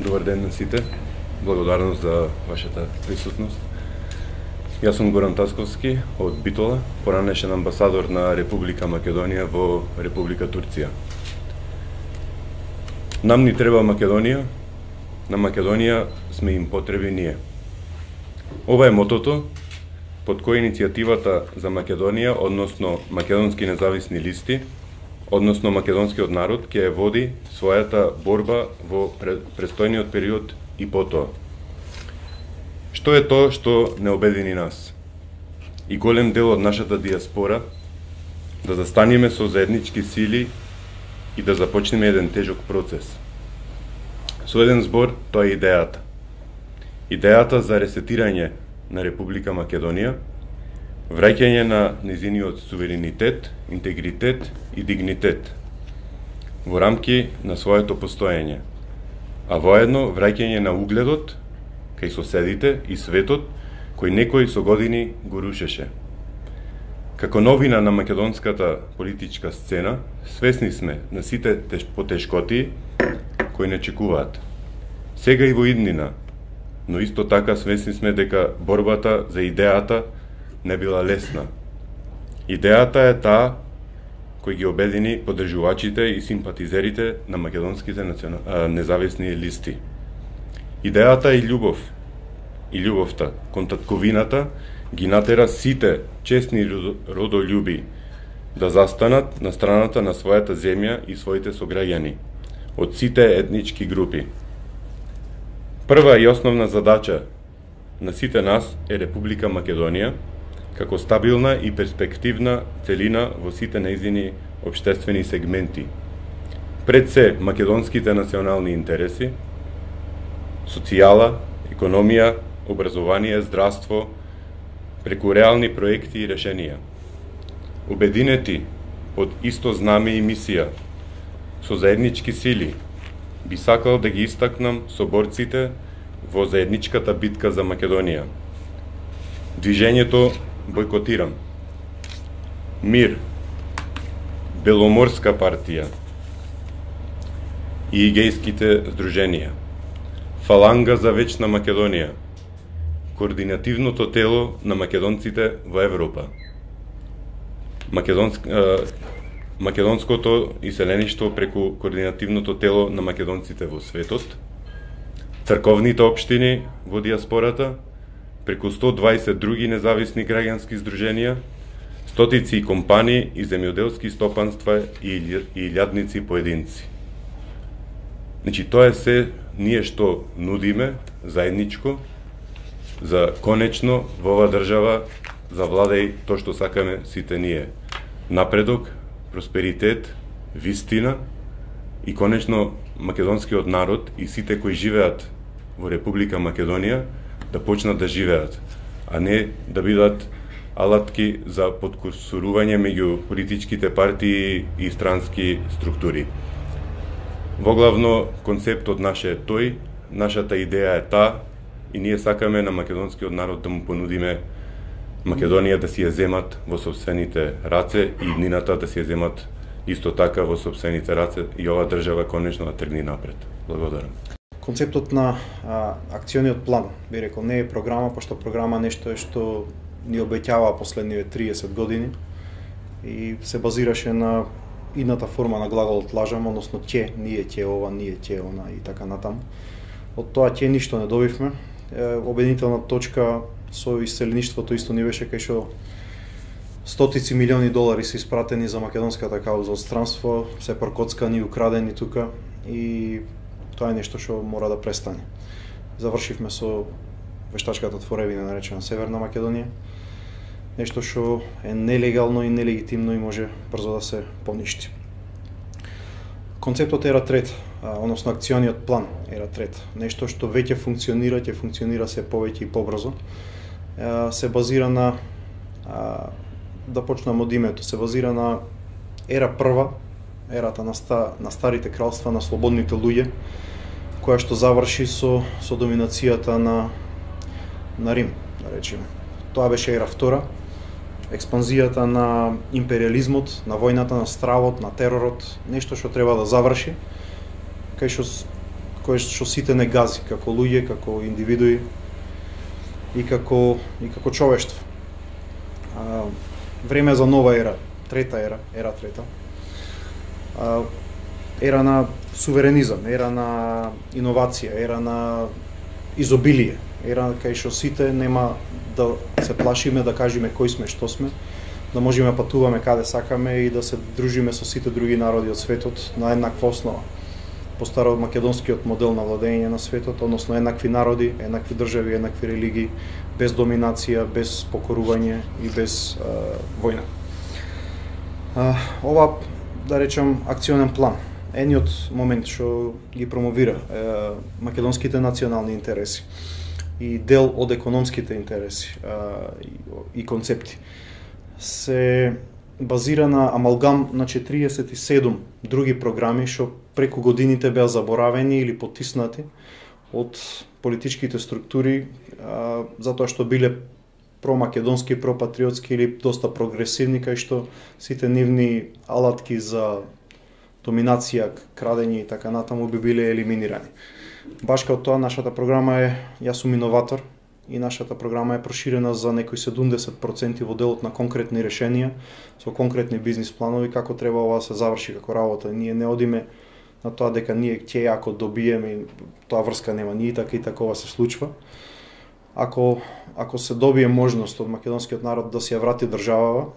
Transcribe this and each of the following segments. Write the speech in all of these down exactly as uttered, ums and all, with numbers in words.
Добар ден на сите. Благодарност за вашата присутност. Јас сум Горан Тасковски од Битола, поранешен амбасадор на Република Македонија во Република Турција. Нам ни треба Македонија, на Македонија сме им потреби ние. Ова е мотото под кој иницијативата за Македонија, односно македонски независни листи, односно македонскиот народ, ќе води својата борба во престојниот период и потоа. Што е тоа што не обедини нас? И голем дел од нашата диаспора да застанеме со заеднички сили и да започнеме еден тежок процес. Со еден збор, тоа е идејата. Идејата за ресетирање на Република Македонија, враќање на незиниот суверенитет, интегритет и дигнитет во рамки на своето постоење, а воедно враќање на угледот кај соседите и светот кој некој со години го рушеше. Како новина на македонската политичка сцена, свесни сме на сите потешкоти кои не чекуваат. Сега и во иднина, но исто така свесни сме дека борбата за идејата не била лесна. Идејата е таа кој ги обедини поддржувачите и симпатизерите на македонските национа... независни листи. Идејата е љубов. И љубовта кон татковината ги натера сите честни родолюби да застанат на страната на својата земја и своите сограѓани од сите етнички групи. Прва и основна задача на сите нас е Република Македонија како стабилна и перспективна целина во сите нејзини општествени сегменти. Пред се македонските национални интереси, социјала, економија, образование, здравство, преку реални проекти и решенија. Обединети под исто знаме и мисија, со заеднички сили, би сакал да ги истакнам соборците во заедничката битка за Македонија. Движењето Бойкотирам, Мир, Беломорска партија и гејските здруженија, Фаланга за вечна Македонија, Координативното тело на македонците во Европа, Македонск... Македонското иселеништво преку Координативното тело на македонците во светот, црковните општини во диаспората, преку сто дваесет други независни граѓански здруженија, стотици компании и земјоделски стопанства и илјадници поединци. Значи, тоа е се ние што нудиме заедничко за конечно во оваа држава завладеј тоа што сакаме сите ние. Напредок, просперитет, вистина и конечно македонскиот народ и сите кои живеат во Република Македонија да почнат да живеат, а не да бидат алатки за подкурсурување меѓу политичките партии и странски структури. Воглавно, концептот наш е тој, нашата идеја е таа и ние сакаме на македонскиот народ да му понудиме Македонија да си ја земат во сопствените раце и иднината да си ја земат исто така во сопствените раце и ова држава конечно да тргне напред. Благодарам. Концептот на а, акциониот план, би рекол, не е програма, пошто програма нешто е што ни обеќава последниве триесет години и се базираше на идната форма на глаголот лажам, односно ќе, ние ќе ова, ние ќе она и така натаму. Од тоа ќе ништо не добивме. Е, обединителна точка со иселеништвото исто ни беше кај што стотици милиони долари се испратени за македонската кауза од странство, се прокоцкани и украдени тука и тоа е нешто што мора да престане. Завршивме со вештачката творевина наречена Северна Македонија, нешто што е нелегално и нелегитимно и може брзо да се поништи. Концептот Ера трета, односно акциониот план Ера трета, нешто што веќе функционира, ќе функционира се повеќе и побрзо, се базира на, да почнам од името, се базира на Ера прва, ерата на, ста, на старите кралства, на слободните луѓе, која што заврши со, со доминацијата на, на Рим, да речеме. Тоа беше Ера втора, експанзијата на империализмот, на војната, на стравот, на теророт, нешто што треба да заврши, кај што кое што сите не гази како луѓе, како индивидуи и како и како човештво. А, време за нова ера, трета ера, ера трета. А, ера на суверенизам, ера на иновација, ера на изобилие, ера кај што сите нема да се плашиме да кажеме кои сме, што сме, да можеме да патуваме каде сакаме и да се дружиме со сите други народи од светот на еднаква основа. По старомакедонскиот модел на владење на светот, односно еднакви народи, еднакви држави, еднакви религии, без доминација, без покорување и без а, војна. А, ова, да речем, акционен план, едниот момент што ги промовира е, македонските национални интереси и дел од економските интереси а, и, и концепти, се базира на амалгам на четириесет и седум други програми што преку годините беа заборавени или потиснати од политичките структури а, затоа што биле промакедонски, пропатриотски или доста прогресивни, кај што сите нивни алатки за доминација, крадење и така натаму би биле елиминирани. Баш као тоа, нашата програма е, јас сум иноватор, и нашата програма е проширена за некои седумдесет проценти во делот на конкретни решенија, со конкретни бизнис планови, како треба ова да се заврши како работа. Ние не одиме на тоа дека ние ќе ако добиеме и тоа врска нема, ние така и такова се случва. Ако ако се добие можност од македонскиот народ да си ја врати државава,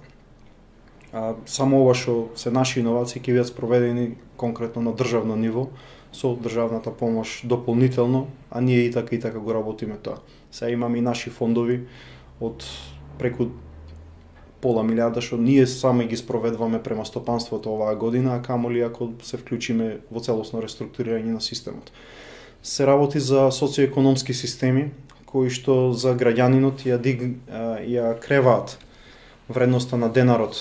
а, само ова што се наши иновации ќе бидат спроведени конкретно на државно ниво со државната помош дополнително, а ние и така и така го работиме тоа. Сега имаме и наши фондови од преку пола милиарда што ние сами ги спроведваме према стопанството оваа година, а камоли ако се вклучиме во целосно реструктурирање на системот. Се работи за социоекономски системи кои што за граѓанинот ја диг ја креваат вредноста на денарот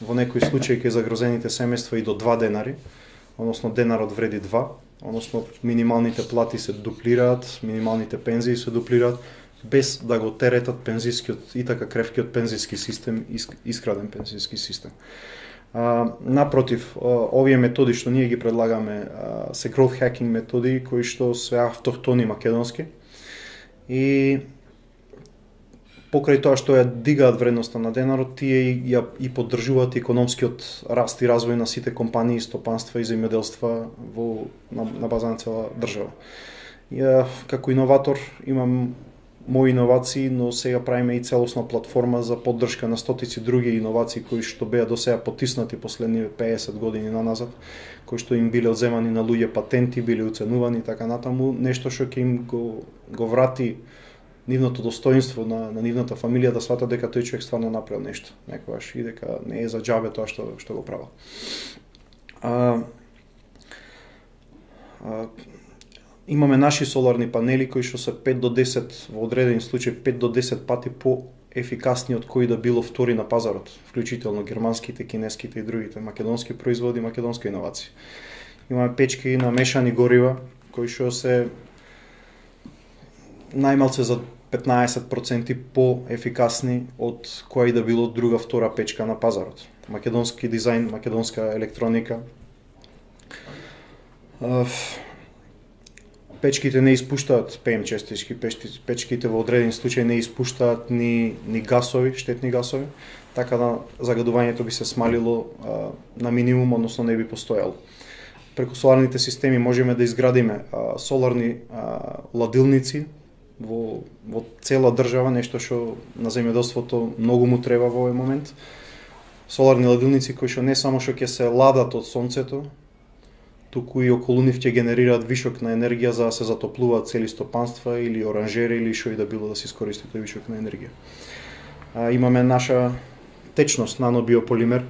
во некои случаи кај загрозените семејства и до два денари, односно денарот вреди два, односно минималните плати се дуплираат, минималните пензии се дуплираат, без да го теретат пензискиот и така кревкиот пензиски систем, искраден пензиски систем. А, напротив, овие методи што ние ги предлагаме а, се growth hacking методи кои што се автохтони македонски и покрај тоа што ја дигаат вредноста на денарот, тие и, ја, и поддржуваат економскиот раст и развој на сите компании, стопанства и земјоделства во на, на база на цела држава. Ја како иноватор имам мои иновации, но сега правиме и целосна платформа за поддршка на стотици други иновации кои што беа до сега потиснати последниве пеесет години наназад, кои што им биле одземани на луѓе патенти, биле уценувани и така натаму, нешто што ќе им го, го врати нивното достоинство на, на нивната фамилија да сватат дека тој човек стварно направил нешто некогаш и дека не е за џабе тоа што што го правил. А, а, имаме наши соларни панели кои што се пет до десет во одредени случаи пет до десет пати по ефикасни од кои да било втори на пазарот, вклучително германските, кинеските и другите македонски производи, македонска иновација. Имаме печки на мешани горива кои што се најмалце за петнаесет проценти по-ефикасни од која и да било друга втора печка на пазарот. Македонски дизајн, македонска електроника. Печките не испуштаат пе ем честички, печките во одредени случаи не испуштаат ни, ни гасови, штетни гасови, така да загадувањето би се смалило а, на минимум, односно не би постоело. Преку соларните системи можеме да изградиме а, соларни а, ладилници во, во цела држава, нешто што на земјоделството многу му треба во овој момент. Соларни ладилници кои што не само што ќе се ладат од сонцето, туку и околу нив ќе генерираат вишок на енергија за да се затоплуваат цели стопанства или оранжери или што и да било да се искористи тој вишок на енергија. А, имаме наша течност нанобиополимер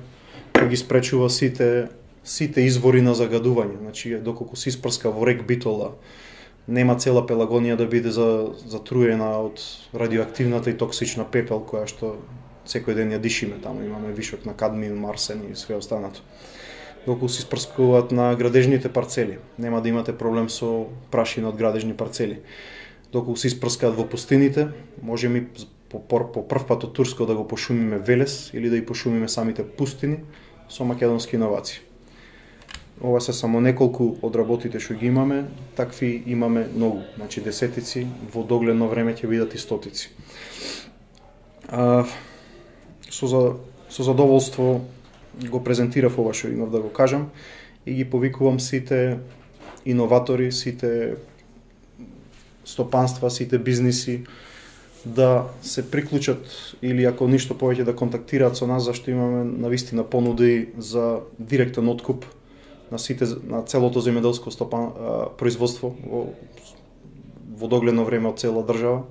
кој ги спречува сите сите извори на загадување. Значи доколку се испрска во рек Битола, нема цела Пелагонија да биде за затруена од радиоактивната и токсична пепел која што секој ден ја дишиме таму. Имаме вишок на кадмиум, арсен и све останато. Доколку се испрскуваат на градежните парцели, нема да имате проблем со прашина од градежни парцели. Доколку се испрскаат во пустините, можеме по, по, по прв пат од Турско да го пошумиме Велес или да и пошумиме самите пустини со македонски иновации. ова се само неколку од работите што ги имаме, такви имаме многу, значи десетици, во догледно време ќе бидат и стотици. А, со, за, со задоволство го презентирав ова што имав да го кажам и ги повикувам сите иноватори, сите стопанства, сите бизниси да се приклучат или ако ништо повеќе да контактираат со нас, зашто имаме навистина понуди за директен откуп на сите на целото земјоделско стопан а, производство во во догледно време од цела држава.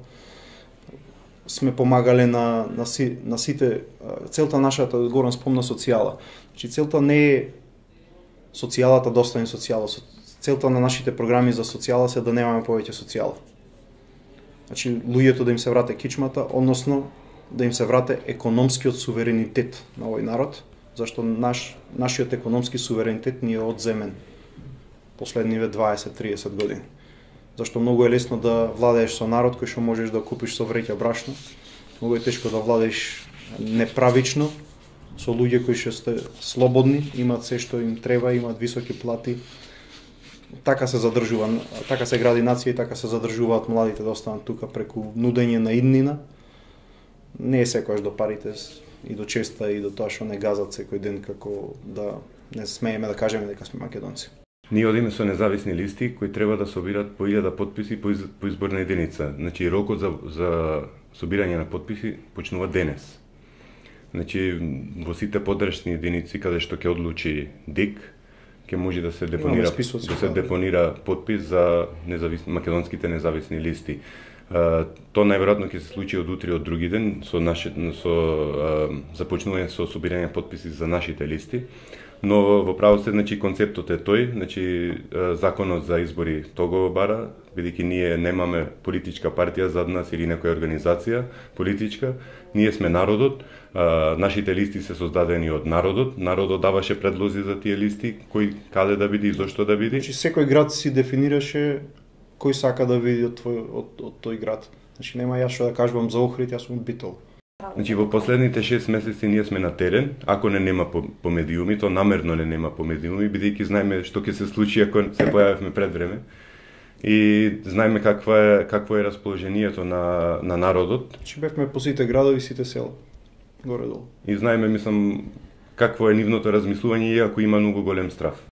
Сме помагале на на, си, на сите целта нашата горам спомна социјала. Значи целта не е социјалата да остане социјала. Целта на нашите програми за социјала се да немаме повеќе социјала. Значи луѓето да им се врате кичмата, односно да им се врате економскиот суверенитет на овој народ, зашто наш нашиот економски суверенитет ни е одземен последниве дваесет до триесет години. Зашто многу е лесно да владееш со народ кој што можеш да купиш со вреќа брашно. Многу е тешко да владееш неправично со луѓе кои што сте слободни, имаат се што им треба, имаат високи плати. Така се задржува, така се гради нација и така се задржуваат младите да останат тука преку нудење на иднина. Не е секојаш до парите и до честа и до тоа што не газат секој ден како да не смееме да кажеме дека сме македонци. Ние одиме со независни листи кои треба да собират по илјада потписи по, из, по изборна единица. Значи рокот за, за собирање на потписи почнува денес. Значи во сите подрачни единици каде што ќе одлучи ДИК, ќе може да се депонира списоци, да се депонира потпис за независни македонските независни листи. Uh, то најверојатно ќе се случи од утре од други ден со наше со uh, започнување со собирање потписи за нашите листи. Но во право се, значи концептот е тој, значи uh, законот за избори тоа го бара, бидејќи ние немаме политичка партија зад нас или некоја организација политичка, ние сме народот, uh, нашите листи се создадени од народот, народот даваше предлози за тие листи, кој каде да биде и зошто да биде. Значи секој град си дефинираше кој сака да види од, твој, од, од тој град. Значи нема јас што да кажувам за Охрид, јас сум од Битол. Значи во последните шест месеци ние сме на терен, ако не нема по, по медиуми, то намерно не нема по медиуми, бидејќи знаеме што ќе се случи ако се појавивме пред време. И знаеме каква е какво е расположението на на народот. Значи бевме по сите градови, сите села. Горе долу. И знаеме, мислам, какво е нивното размислување и ако има многу голем страф.